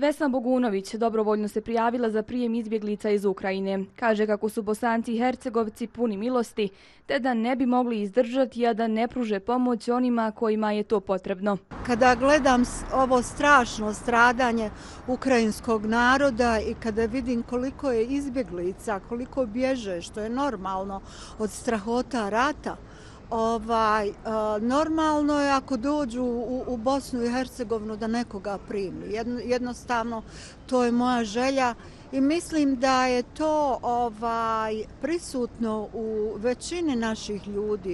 Vesna Bogunović dobrovoljno se prijavila za prijem izbjeglica iz Ukrajine. Kaže kako su Bosanci i Hercegovci puni milosti, te da ne bi mogli izdržati, a da ne pruže pomoć onima kojima je to potrebno. Kada gledam ovo strašno stradanje ukrajinskog naroda i kada vidim koliko je izbjeglica, koliko bježe, što je normalno od strahota rata, normalno je ako dođu u Bosnu i Hercegovinu da nekoga primi. Jednostavno, to je moja želja i mislim da je to prisutno u većini naših ljudi.